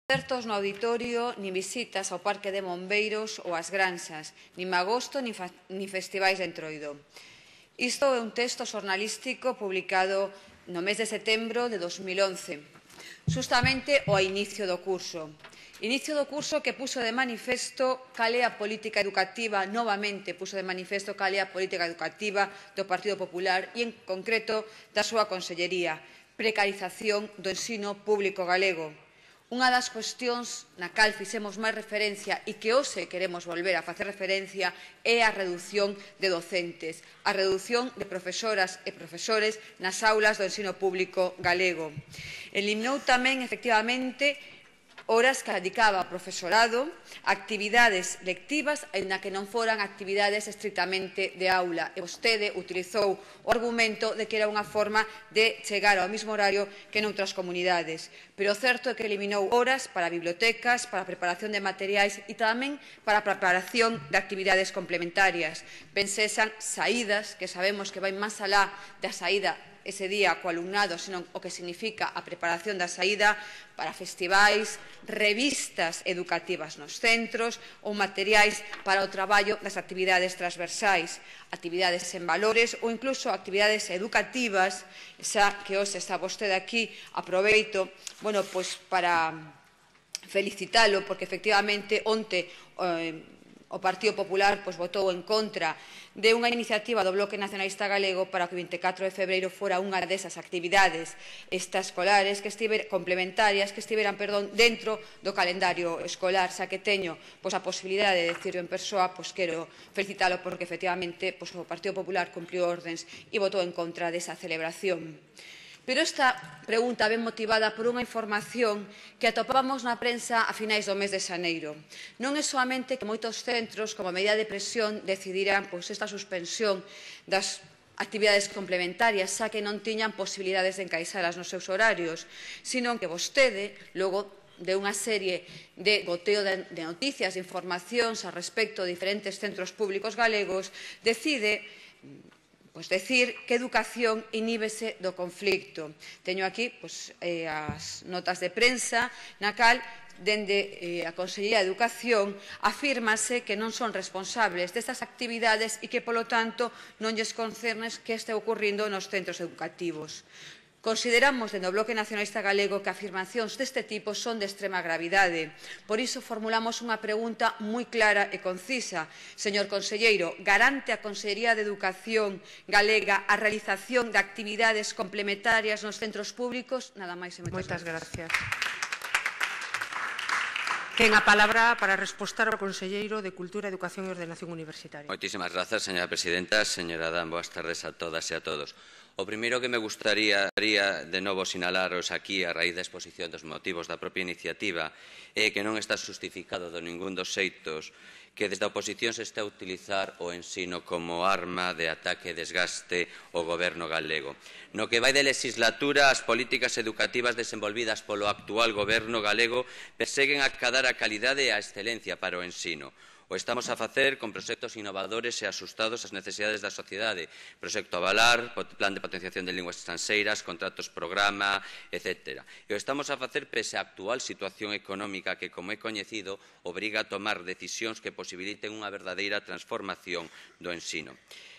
Certos no auditorio, nin visitas ao Parque de Bombeiros ou ás granxas, nin magosto nin festivais de Entroido. Isto é un texto xornalístico publicado no mes de setembro de 2011, justamente ao inicio do curso. Inicio do curso que puxo de manifesto cal é a política educativa, novamente puxo de manifesto cal é a política educativa do Partido Popular e, en concreto, da súa consellería, precarización do ensino público galego. Unha das cuestións na cal fixemos máis referencia e que hoxe queremos volver a facer referencia é a redución de docentes, a redución de profesoras e profesores nas aulas do ensino público galego. Eliminou tamén, efectivamente, horas que dedicaba ao profesorado, actividades lectivas, na que non foran actividades estrictamente de aula. E vostede utilizou o argumento de que era unha forma de chegar ao mesmo horario que noutras comunidades. Pero o certo é que eliminou horas para bibliotecas, para a preparación de materiais e tamén para a preparación de actividades complementarias. Pensesan saídas, que sabemos que vai máis alá da saída ese día co alumnado, senón o que significa a preparación da saída para festivais, revistas educativas nos centros ou materiais para o traballo das actividades transversais, actividades en valores ou incluso actividades educativas, xa que hoxe está vostede aquí, aproveito para felicitalo, porque efectivamente onte o Partido Popular votou en contra de unha iniciativa do Bloque Nacionalista Galego para que o 24 de febreiro fora unha desas actividades extraescolares complementarias que estiveran dentro do calendario escolar. Xa que teño a posibilidade de decirlo en persoa, quero felicitalo porque efectivamente o Partido Popular cumpriu ordens e votou en contra desa celebración. Pero esta pregunta ven motivada por unha información que atopábamos na prensa a finais do mes de xaneiro. Non é soamente que moitos centros, como medida de presión, decidiran esta suspensión das actividades complementarias, xa que non tiñan posibilidades de encaixalas nos seus horarios, sino que vostede, logo de unha serie de goteo de noticias, de informacións a respecto de diferentes centros públicos galegos, decide decir que educación iníbese do conflicto. Teño aquí as notas de prensa na cal dende a Consellería de Educación afírmase que non son responsables destas actividades e que, polo tanto, non lles concerne que este ocurrindo nos centros educativos. Consideramos, dende o Bloque Nacionalista Galego, que afirmacións deste tipo son de extrema gravidade. Por iso formulamos unha pregunta moi clara e concisa. Señor conselleiro, garante a Consellería de Educación galega a realización de actividades complementarias nos centros públicos? Nada máis e moitas gracias. Ten a palabra para respostar ao conselleiro de Cultura, Educación e Ordenación Universitaria. Moitísimas grazas, señora presidenta. Señora Adán, boas tardes a todas e a todos. O primeiro que me gustaría de novo sinalaros aquí a raíz da exposición dos motivos da propia iniciativa é que non está justificado de ningún dos xeitos que desde a oposición se está a utilizar o ensino como arma de ataque e desgaste ao goberno galego. No que vai de legislatura, as políticas educativas desenvolvidas polo actual goberno galego perseguen acadar a calidade e a excelencia para o ensino. O estamos a facer con proxectos innovadores e asustados ás necesidades da sociedade. Proxecto Avalar, Plan de Potenciación de Linguas Estranxeiras, contratos programa, etc. E o estamos a facer pese á actual situación económica que, como é coñecido, obriga a tomar decisións que posibiliten unha verdadeira transformación do ensino.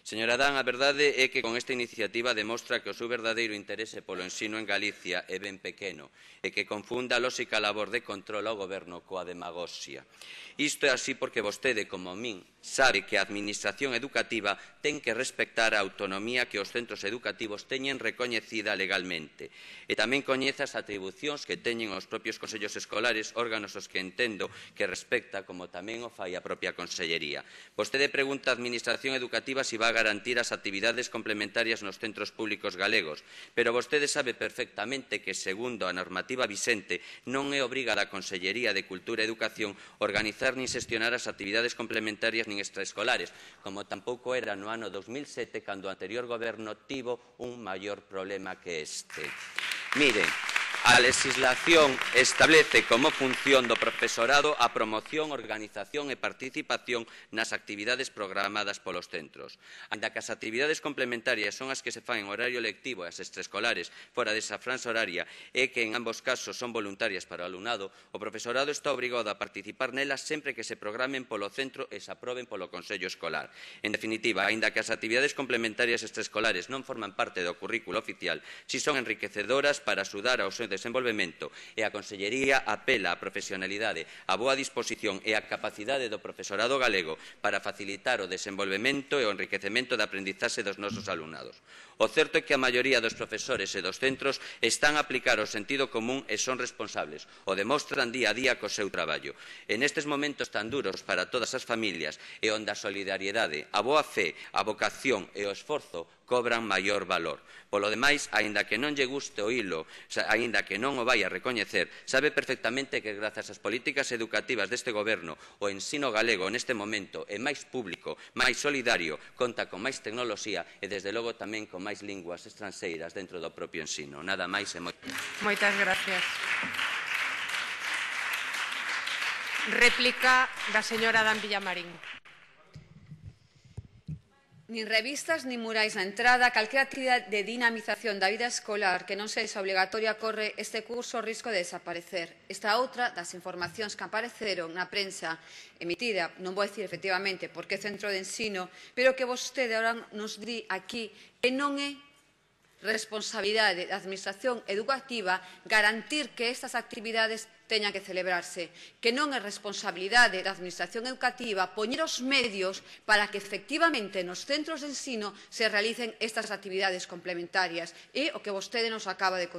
Señora Adán, a verdade é que con esta iniciativa demostra que o seu verdadeiro interese polo ensino en Galicia é ben pequeno e que confunda a lóxica labor de control ao goberno coa demagoxia. Isto é así porque vostede, como min, sabe que a Administración educativa ten que respectar a autonomía que os centros educativos teñen recoñecida legalmente e tamén coñece as atribucións que teñen os propios consellos escolares, órganos aos que entendo que respecta, como tamén o fai a propia Consellería. Vostede pregunta á Administración educativa se vai garantir as actividades complementarias nos centros públicos galegos, pero vostede sabe perfectamente que, segundo a normativa vixente, non é obrigada a Consellería de Cultura e Educación organizar nin xestionar as actividades complementarias nin extraescolares, como tampouco era no ano 2007, cando o anterior goberno tivo un maior problema que este. Miren, A legislación establece como función do profesorado a promoción, organización e participación nas actividades programadas polos centros. Aínda que as actividades complementarias son as que se fan en horario lectivo e as extraescolares fora desa franxa horaria e que en ambos casos son voluntarias para o alumnado, o profesorado está obrigado a participar nelas sempre que se programen polo centro e se aproben polo Consello Escolar. En definitiva, aínda que as actividades complementarias extraescolares non forman parte do currículo oficial, si son enriquecedoras para axudar ao seu desenvolvemento e a Consellería apela á profesionalidade, á boa disposición e á capacidade do profesorado galego para facilitar o desenvolvemento e o enriquecemento da aprendizaxe dos nosos alumnados. O certo é que a maioría dos profesores e dos centros están a aplicar o sentido común e son responsables, o demostran día a día co seu traballo. En estes momentos tan duros para todas as familias e onde a solidariedade, a boa fe, a vocación e o esforzo cobran maior valor. Polo demais, aínda que non lle guste oílo, aínda que non o vai a recoñecer, sabe perfectamente que grazas ás políticas educativas deste goberno o ensino galego neste momento é máis público, máis solidario, conta con máis tecnoloxía e desde logo tamén con máis linguas estranxeiras dentro do propio ensino. Nada máis e Moitas gracias. Réplica da señora Dan Villamarín. Nin revistas nin murais na entrada, calquera actividade de dinamización da vida escolar que non sexa obligatoria corre este curso o risco de desaparecer. Esta outra das informacións que apareceron na prensa emitida, non vou dicir efectivamente por que centro de ensino, pero que vostede ahora nos di aquí que non é responsabilidade da Administración educativa garantir que estas actividades teñan que celebrarse, que non é responsabilidade da Administración educativa poñer os medios para que efectivamente nos centros de ensino se realicen estas actividades complementarias. É o que vostede nos acaba de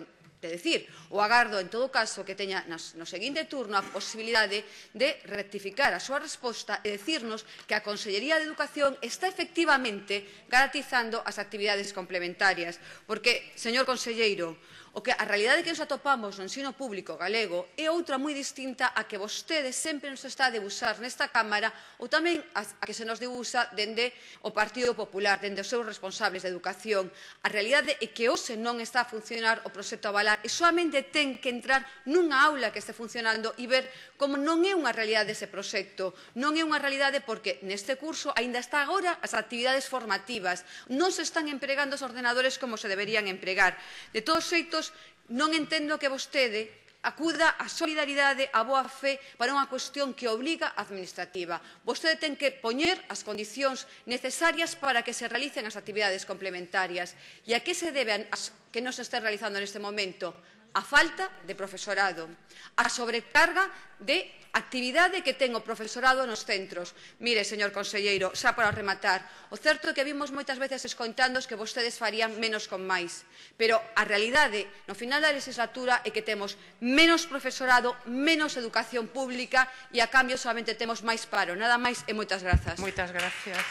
decir. O agardo, en todo caso, que teña no seguinte turno a posibilidade de rectificar a súa resposta e decirnos que a Consellería de Educación está efectivamente garantizando as actividades complementarias. Porque, señor conselleiro, a realidade que nos atopamos no ensino público galego é outra moi distinta a que vostede sempre nos está a debuxar nesta Cámara ou tamén a que se nos debuxa dende o Partido Popular, dende os seus responsables de educación. A realidade é que hoxe non está a funcionar o proxecto Avalar e solamente ten que entrar nunha aula que este funcionando e ver como non é unha realidade ese proxecto. Non é unha realidade porque neste curso aínda está agora as actividades formativas. Non se están empregando os ordenadores como se deberían empregar. De todos xeitos, non entendo que vostede acuda á solidaridade, á boa fe para unha cuestión que obriga a administrativa. Vostede ten que poñer as condicións necesarias para que se realicen as actividades complementarias. E a que se debe que non se este realizando neste momento? A falta de profesorado, a sobrecarga de actividade que ten o profesorado nos centros. Mire, señor conselleiro, xa para rematar, o certo é que vimos moitas veces escoitando que vostedes farían menos con máis, pero a realidade no final da legislatura é que temos menos profesorado, menos educación pública e a cambio solamente temos máis paro. Nada máis e moitas grazas. Moitas gracias.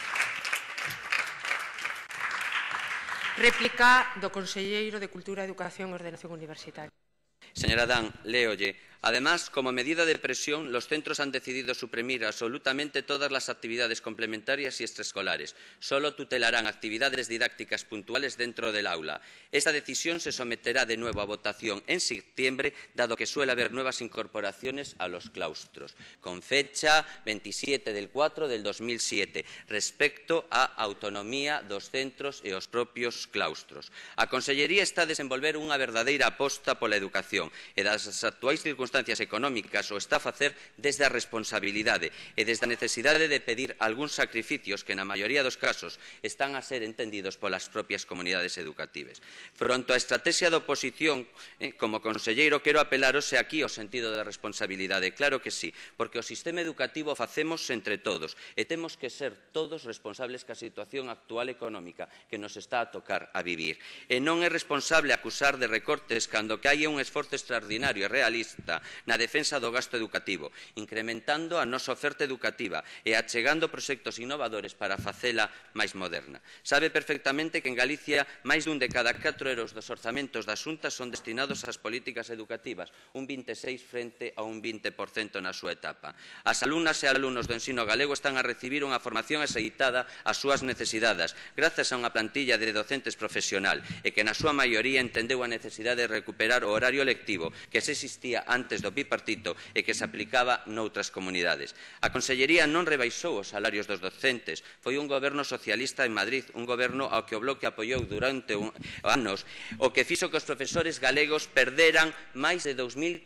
Réplica do conselleiro de Cultura, Educación e Ordenación Universitaria. Señora Dan, léolle. Además, como medida de presión, los centros han decidido suprimir absolutamente todas las actividades complementarias y extraescolares. Solo tutelarán actividades didácticas puntuales dentro del aula. Esta decisión se someterá de nuevo a votación en septiembre, dado que suele haber nuevas incorporaciones a los claustros, con fecha 27 del 4 del 2007, respecto á autonomía dos centros e os propios claustros. A Consellería está a desenvolver unha verdadeira aposta pola educación e das actuais circunstancias económicas o está a facer desde a responsabilidade e desde a necesidade de pedir algúns sacrificios que na maioría dos casos están a ser entendidos polas propias comunidades educativas. Fronto á estratexia da oposición, como conselleiro, quero apelaros aquí ao sentido da responsabilidade. Claro que sí, porque o sistema educativo o facemos entre todos e temos que ser todos responsables ca situación actual económica que nos está a tocar a vivir. E non é responsable acusar de recortes cando que hai un esforzo extraordinario e realista política na defensa do gasto educativo, incrementando a nosa oferta educativa e achegando proxectos innovadores para facela máis moderna. Sabe perfectamente que en Galicia máis dun de cada 4 euros dos orzamentos da Xunta son destinados ás políticas educativas, un 26% frente a un 20% na súa etapa. As alumnas e alumnos do ensino galego están a recibir unha formación axeitada ás súas necesidades, grazas a unha plantilla de docentes profesional e que na súa maioría entendeu a necesidade de recuperar o horario lectivo que se existía antes do bipartito e que se aplicaba noutras comunidades. A Consellería non rebaixou os salarios dos docentes, foi un goberno socialista en Madrid, un goberno ao que o Bloque apoiou durante anos, o que fixo que os profesores galegos perderan máis de 2.500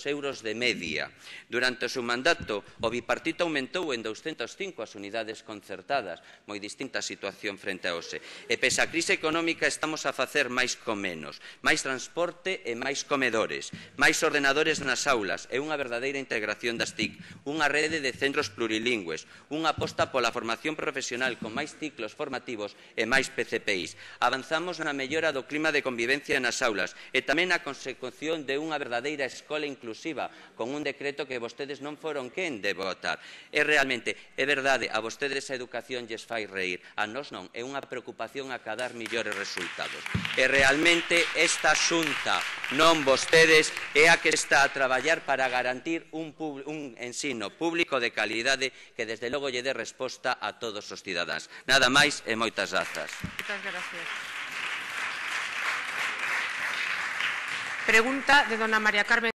euros de media. Durante o seu mandato, o bipartito aumentou en 205 as unidades concertadas, moi distinta a situación frente a hoxe. E pese a crise económica estamos a facer máis con menos, máis transporte e máis comedores, máis ordenadores nas aulas e unha verdadeira integración das TIC, unha rede de centros plurilingües, unha aposta pola formación profesional con máis ciclos formativos e máis PCPIs. Avanzamos na mellora do clima de convivencia nas aulas e tamén na consecución de unha verdadeira escola inclusiva, con un decreto que vostedes non foron quen de votar. É realmente, é verdade, a vostedes a educación lles fai reír, a nós non, é unha preocupación acadar millores resultados. E realmente esta Xunta, non vostedes, é a que está a traballar para garantir un ensino público de calidade que desde logo lle dé resposta a todos os cidadáns. Nada máis e moitas grazas. Moitas gracias. Pregunta de dona María Carmen